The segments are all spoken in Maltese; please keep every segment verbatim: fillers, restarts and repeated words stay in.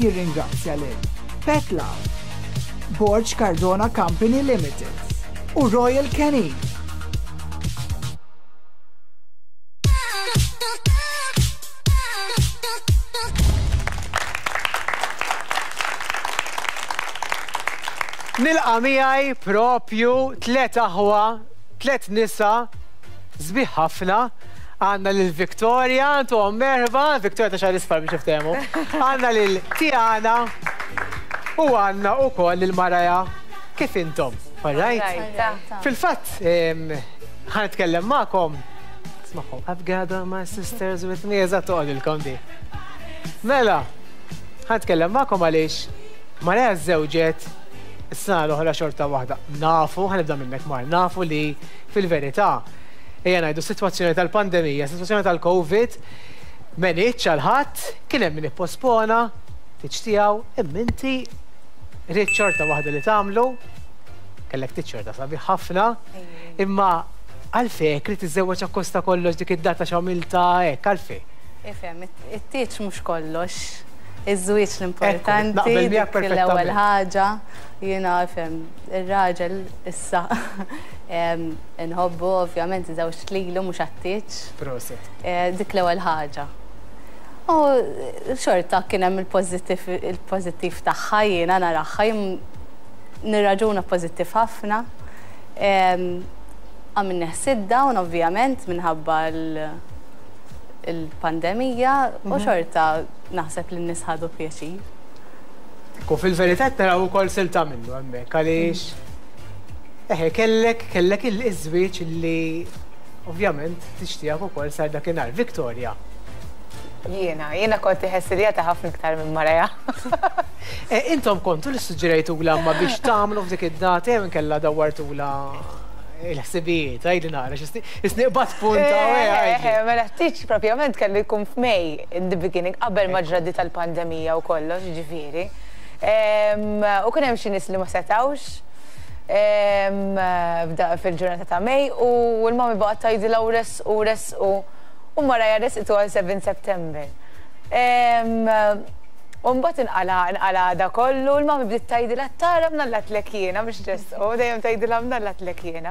Jirringrazzja lil Pet Love, Borg Cardona Company Limited u Royal Canin. Nilqa' miegħi propju tliet aħwa, tliet nisa sbieħ ħafna. Għandna lil Victoria, intom merħba, Victoria ta' xagħar isfar biex niftehmu. Għandna lil Tiana u għandna wkoll lil Maraja. Kif intom? All right? Fil-fatt, ħa nitkellem magħkom. Ismagħhom, I've got all my sisters with me, eżatt toqgħodilkom di. Mela, ħa nitkellem magħkom għaliex Maraja żżewġet is-sena l-oħra xorta waħda. Nafu, ħa nibda minnek Mar, nafu li fil-verità, ejja ngħidu sitwazzjoni tal-pandemija, sitwazzjoni tal-Covid, m'għenitx għal ħadd, kien hemm min ippospona, tieġ tiegħu, imma inti ridt xorta waħda li tagħmlu, kellek tieġ xorta sabiħ ħafna, imma għalfejn trid tiżżewweġ akkosta kollox dik id-data x'għamilta hekk, għalfejn? Ifhem, it-tieġ mhux kollox. Iż-żwieġ l-importanti, naqbel miegħek dik l-ewwel perfettament. ħaġa. Jiena ifhem, ir-raġel issa em, inħobbu ovvjament żewġt lilu mhux għat-tieġ. Prosit. Eh, Dik l-ewwel ħaġa. U xorta kien hemm il-pożittiv il-pożittiv tagħha jiena naraha jien nirraġuna pożittiv ħafna. Em, Għamilna sit down ovvjament minħabba l- il-pandemija u xorta naħseb li n-nies ħadu pjaċir. Ku fil-verità qed naraw ukoll silta minnu hemmhekk għaliex eħe kellek kellek il-żwieġ li ovvjament tixtieq ukoll sar dakinhar. Victoria. Jiena, jiena kont iħessiljata ħafna iktar minn Maraja. E, intom kontu li suġġerejtula ma biex tagħmlu f'dik id-data jew inkella dawwartula il-ħsibijiet, għidli nara, x'isni qbad punta, Eh, għidli. eh, Mela t-tieġ propjament kellu jkun f'Mej in the beginning, qabel ma ġrat di tal-pandemija u kollox, ġifieri. Em, U kien hemm xi nies li ma setawx em, f'da- fil-ġurnata ta' Mej u l-mami baqgħet tgħidilha u resqu resqu u Maraja resqitu għal seven September. Em, U mbagħad inqala inqala da kollu, l-mami bdiet tgħidilha tara mnalla tlek jiena biex resqu, dejjem tgħidilha mnalla tlek jiena.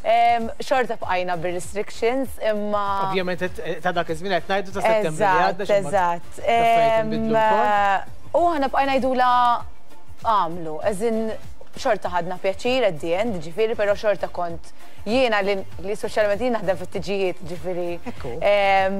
Em, Xorta bqajna bir-restrictions imma. Ovvjament ta' dak iż-żmien qed ngħidu ta' Settembru li għadda. Eżatt, eżatt. L-affarijiet inbidlu wkoll. U aħna bqajna ngħidula għamlu, as in xorta ħadna pjaċir at the end, ġifieri, pero xorta kont jiena li, li soċjalment jien naħdem fit-tiġijiet, ġifieri. Ekku. em,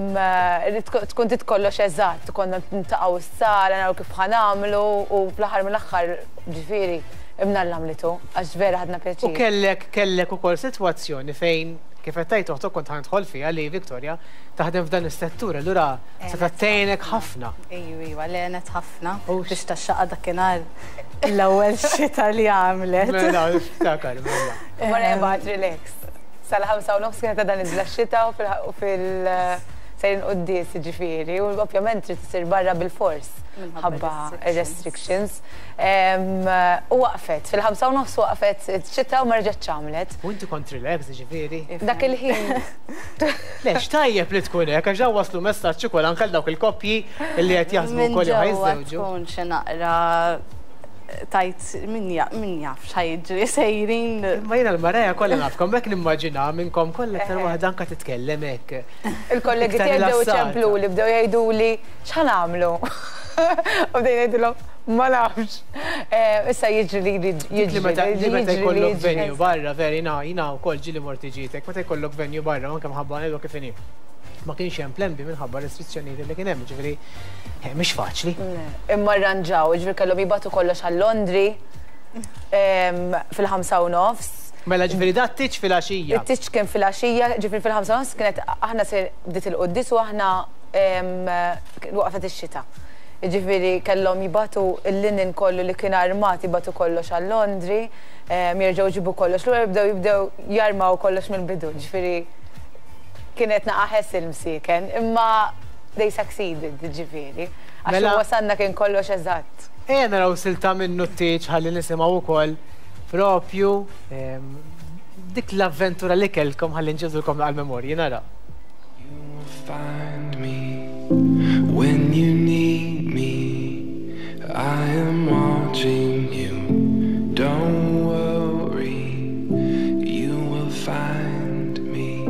li tkun tkun trid kollox eżatt, konna niltaqgħu s-sala, naraw kif ħa nagħmlu u fl-aħħar mill-aħħar ġifieri imnalla għamlitu, għax vera ħadna U pjaċir. kellek kellek ukoll sitwazzjoni fejn kif qed tgħid oħtok kont ħa nidħol fiha li Victoria taħdem f'dan is-settur, allura se tgħinek ħafna. Ejju, iva, għenet ħafna Ux. biex tax-xaqqa dakinhar l-ewwel xita li għamlet. Mela, ftakar, mela. Mara baqgħet relax. Sal-ħamsa u nofs kienet dan iżla xita u fil- u fil- sejrin quddies ġifieri u ovvjament trid isir barra bil-fors Minħabba ħabba restrictions. restrictions. Em, U waqfet, fil-ħamsa u nofs waqfet xita u ma reġgħetx għamlet. U inti kont relax, ġifieri. Dak il-ħin. Lex, tajjeb li tkun hekk, għax dawn waslu messaġġ ukoll anke għal dawk il-koppji li qed jaħsbu Minn wkoll jew ġewwa ħa jiżżewġu. tkun xi naqra tajt min jaf min jaf x'ħa jiġri sejrin. Ma jiena l-Maraja kollha nafkom, hekk nimmaġina minnkom kollha aktar waħda anke titkellem hekk. Il-kollegi Iktar tiegħi bdew rilassata. iċemplu li bdew jgħiduli x'ħa nagħmlu. U bdejna ngħidulhom ma nafx. Eh, Issa jiġri li jiġri Li meta li meta jiġri li jkollok jiġri. venue barra, veri, jina, jina wkoll ġieli mort ġitek, meta jkollok venue barra, anke mħabba ngħidu kif inhi. Ma kienx hemm plan B minħabba restrizzjonijiet li kien hemm, ġifieri, eh, mhix faċli. Imma rranġaw, ġifieri kellhom jibagħtu kollox għal Londri em, fil-ħamsa u nofs. Mela ġifieri da t-tieġ filgħaxija. It-tieġ kien filgħaxija, ġifieri fil-ħamsa u nofs kienet aħna se bdiet il-quddies u aħna em, waqfet ix-xita. Ġifieri kellhom jibagħtu il-linen kollu li kien armat jibagħtu kollox għal Londri, em, jerġgħu jġibu kollox lura jibdew jibdew jarmaw kollox mill-bidu. Ġifieri kienet naqa hassle msiken, imma they succeeded, ġifieri. Għax Mela- wasanna kien kollox eżatt. Ejja naraw silta minnu t-tieġ ħalli nisimgħu wkoll propju em, dik l-avventura li kellkom ħalli nġibdulkom għal-memorji nara. You will find me when you need me. I am watching you. Don't worry, you will find me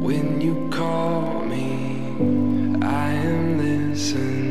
when you call me. I am listening.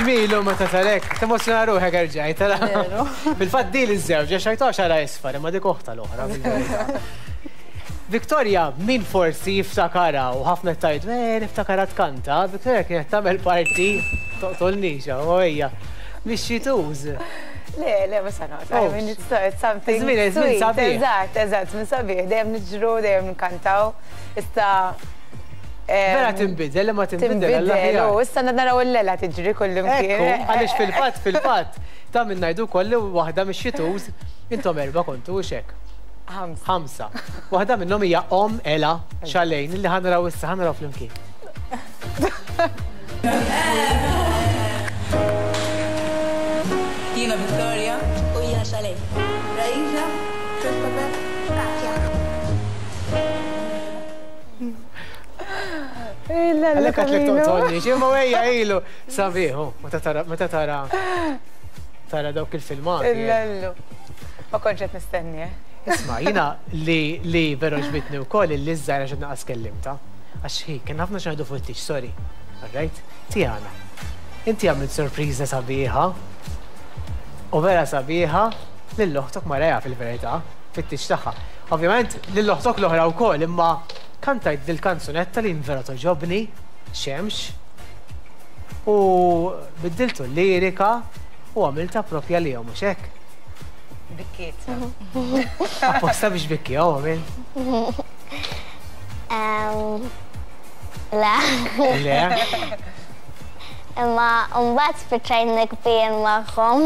Ġmilu meta tarek, temozzjona ruħek erġajt. Fil-fatt di l-żewġ, xajta xara isfar, imma dik oħta l-oħra. Victoria, min forsi jiftakara u ħafna tajt, eh, niftakara tkanta, Victoria kienet tagħmel parti toqtolnixa, u hija mix-xituż. Le, le, ma sanot. I mean, it's, it's something Żmien, żmien sabiħ. Eżatt, eżatt, żmien sabiħ. Dejjem niġru, dejjem nkantaw. Issa Vera tinbidel, ma tinbidel. Tinbidel, u issa naraw il-lela tiġri kullimkien. Ekku, għaliex fil-fatt, fil-fatt, ta' minn ngħidu wkoll li waħda mix-xituż, intom erba' kontu u xek. Ħamsa. Ħamsa. Waħda minnhom hija Om Ela Xalejn li ħanraw issa ħanraw flimkien. Jiena Victoria u jiena Xalejn. Raisa, Christopher, Katja. Għalek għatlek toqtolni, ximma għejja ilu. Sabiħu, meta tara tara dawk il-filmati. Illallu. Ma kontx qed nistenni, eh? Isma, jina li li veru ġbitni wkoll li ż-żgħira xi naqas kellimta. Għax hi, kien ħafna xi fuq it-tix, sorry. All right? Tiana. Inti għamilt sorpriża sabiħa. U vera sabiħa lil oħtok Maria fil-verità, fit-tix tagħha. Ovvjament lil oħtok l-oħra wkoll, imma kantajt dil-kanzunetta li vera toġobni, Xemx, u biddiltu l-lirika u għamilta propja li mhux hekk. Bikkiet. Apposta biex bikki, għaw għamil? Le. Le? Imma mbagħad spiċċajt nikbien magħhom.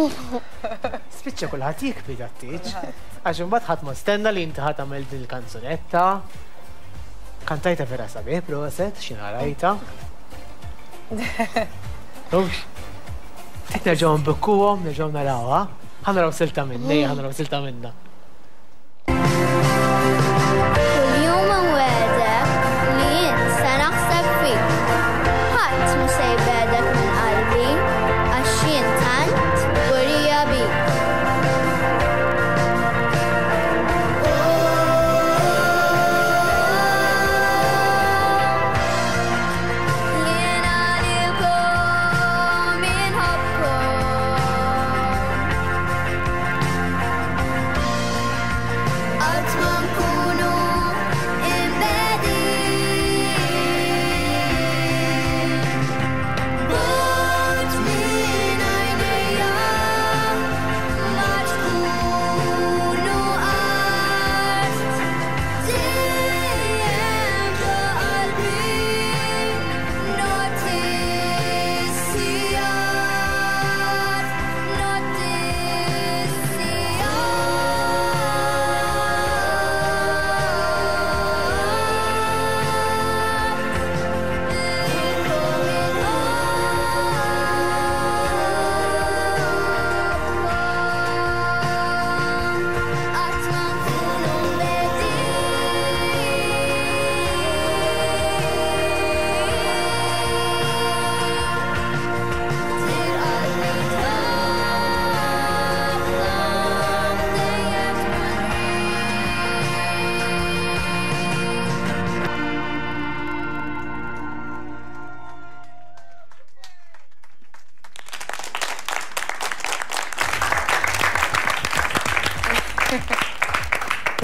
Spiċċa kulħadd jikbi dat-tieġ. Għax imbagħad ħadd ma stenna li inti ħadd tagħmel dil-kanzunetta. Kantajta vera sabiħ, proset, xina rajta. Ux, tit nerġaw nbikkuhom, nerġaw narawha. Ħa naraw silta minna, ejja ħa naraw silta minna. Kuljum inwegħdek li jien se naħseb fik. Ħadd mhu se jbegħdek minn qalbi għax jien tant kburija bik. Jien għalikom inħobbkom. Qatt ma nkunu imbegħdin.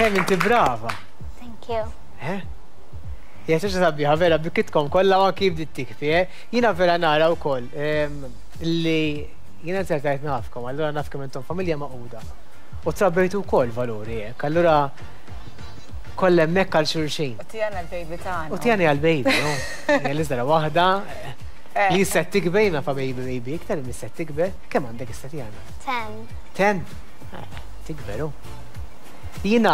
Kemm inti brava. Thank you. Eh? Hija xi sabiħa vera bikitkom kollha ma kif bdiet tikfi, eh? Jiena vera nara wkoll li jiena nsertajt nafkom, allura naf kemm intom familja maquda. U trabbejtu wkoll valuri hekk, allura kollha hemmhekk għal xulxin. U tijana l-baby tagħna. U tijana għal-baby, no? Hija l-iżdara waħda li se tikber, jiena fa baby baby iktar li se tikber, kemm għandek issa Tijana? Ten. Ten? Tikber, hu. Jiena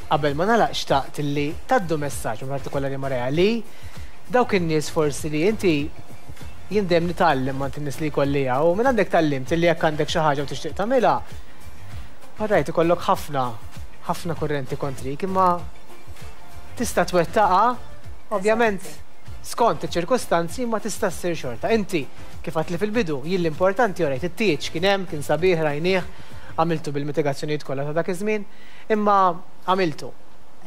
qabel ma nagħlaq xtaqt li tgħaddu messaġġ partikolari Maria li dawk in-nies forsi li inti jien dejjem nitgħallem ma' in-nies li jkolli u minn għandek tgħallimt li jekk għandek xi ħaġa u tixtieq tagħmilha. Alright, ikollok ħafna ħafna kurrenti kontrik, imma tista' twettaqha ovvjament skont iċ-ċirkustanzi ma tista' ssir xorta. Inti kif għedt li fil-bidu jien l-importanti orajt it-tieġ kien hemm, kien sabiħ rajnieh, għamiltu bil-mitigazzjonijiet kollha ta' dak iż-żmien, imma għamiltu.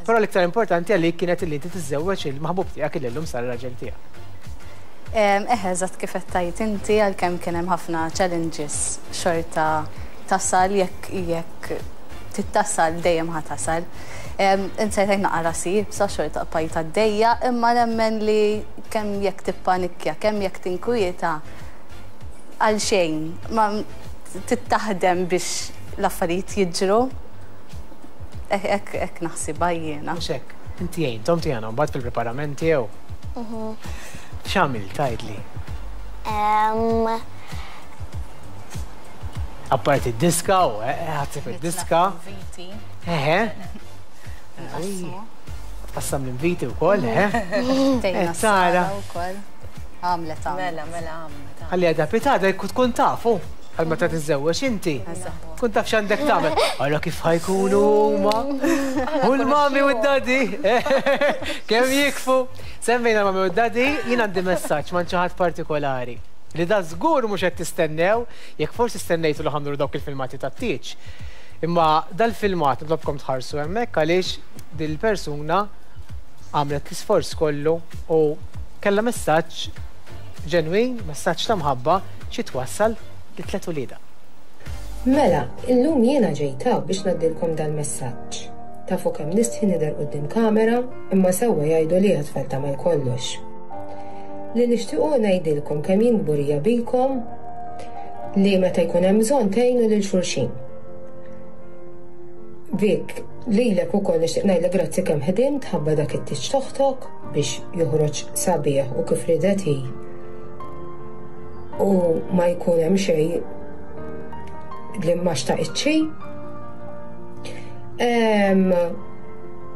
Però l-iktar importanti għalik kienet li inti tiżżewweġ il-maħbub tiegħek li llum sar raġel tiegħek. Eħe, eżatt kif qed tgħid inti għalkemm kien hemm ħafna challenges xorta tasal jekk jekk tittasal dejjem ħa tasal. Insejt naqra rasi, sa xorta bqajt għaddejja, imma nemmen li kemm jekk tippanikja, kemm jekk tinkwieta għal xejn, ma tittaħdem biex l-affarijiet jiġru. Hekk naħsibha jiena. Mhux hekk. Inti għintom Tijana mbagħad fil-preparamenti jew? X'għamilt tgħidli? Apparti d-diska u ħadsib id-diska. Eħe. Tqassam l-inviti wkoll, eħe. Tejna Sara. wkoll. Għamlet għamlet. Mela, mela għamlet. Ħalli għadha pitada tkun tafu. Għal meta tiżżewweġ inti. Tkun taf x'għandek tagħmel. Ara kif ħajkunu huma. U l-mami u d-daddy. Kemm jikfu. Semmejna l-mami u d-daddy, jien għandi messaġġ ma' xi ħadd partikolari. Li da żgur mhux qed tistennew, jekk forsi stennejtu li ħamlu dawk il-filmati tat-tieġ. Imma dal-filmat nitlobkom tħarsu hemmhekk għaliex dil-persuna għamlet l-isforz kollu u kellha messaġġ ġenwin, messaġġ ta' mħabba xi twassal li tliet uliedha. Mela, illum jiena ġejta biex ngħaddilkom dal-messaġġ. Tafu kemm nistħi nidher quddiem kamera, imma sewwa jgħidu li għat-tfal tagħmel kollox. Li nixtiequ ngħidilkom kemm jien kburija bikom li meta jkun hemm bżonn tgħinu lil xulxin. Vik, lilek ukoll nixtieq ngħidlek grazzi kemm ħdimt ħabba dak it-tieġ toħtok biex joħroġ sabiħ u kif ridet hi. U ma jkun hemm xejn li ma xtaqitx.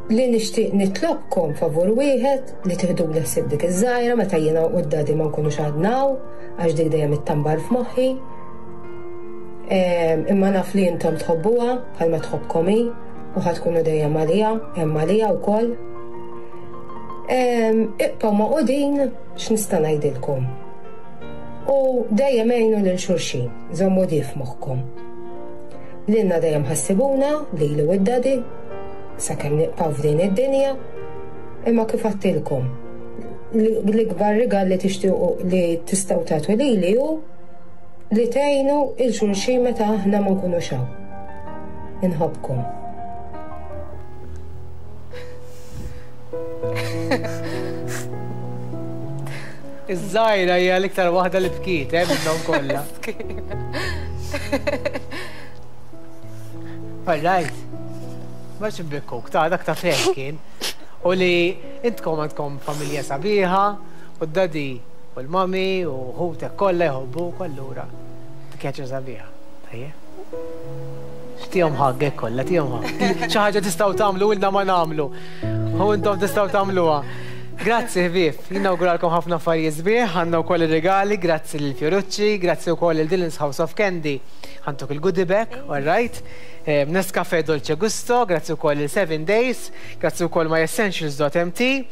Li nixtieq nitlobkom favur wieħed li tieħdu l-ħsieb dik iż-żgħira meta jiena u d-daddy ma nkunux għadnaw għax dik dejjem ittambar f'moħħi. Imma naf li intom tħobbuha bħalma tħobbkom hi u ħa tkunu dejjem għalija, hemm għalija wkoll. Ibqgħu magħqudin x'nista' ngħidilkom. U dejjem għinu lil xulxin, żommu di f'moħħkom. Lilna dejjem ħassibuna, lili u d-daddy, sakemm nibqgħu f'din id-dinja, imma kif għedtilkom, l-ikbar rigal li tixtiequ li tistgħu tagħtu lili hu li tgħinu il xulxin meta aħna ma nkunux hawn. Inħobbkom. Iż-żgħira hija l-iktar waħda li bkiet, eh, minnhom kollha. All right. Ma xibbikuk, ta' dak ta' fejn kien. U li intkom għandkom familja sabiħa, u d-daddy u l-mami u ħutek kollha jħobbuk allura. Dik sabiħa. Tajjeb? Tihom ħaggek kollha, tihom ħagg. Xi ħaġa tistgħu tagħmlu ilna ma nagħmlu. U intom tistgħu tagħmluha. Grazzi ħbieb, jien nawguralkom ħafna affarijiet sbieħ, għandna wkoll ir-regali, grazzi lil Fiorucci, grazzi wkoll lil Dylan's House of Candy. Ħantuk il-goodie bag, all right. Nescafe Dolce Gusto, grazzi wkoll lil Seven Days, grazzi wkoll myessentials dot m t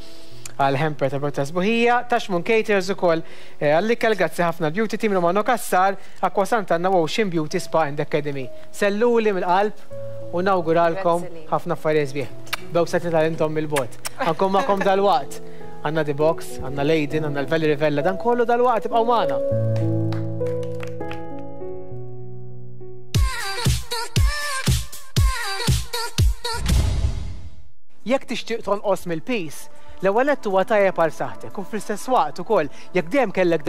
għal hamper ta' Borta Sbuħija, Tashmun Caters ukoll għall-ikel, grazzi ħafna Beauty Team Romano Cassar, Aqua Sant'Anna Ocean Beauty Spa and Academy. Selluli mill-qalb u nawguralkom ħafna affarijiet sbieħ. Bewsa tal-intom mill-bot. Għankom magħkom dal-waqt. Għanna The Box, għanna Leiden, għanna l-Valerie Vella, dan kollu dal-waqt, ibqgħu magħna. Jekk tixtieq tonqos mill-piż, l-ewwel nett huwa tajjeb għal saħħtek u fl-istess waqt ukoll jekk dejjem kellek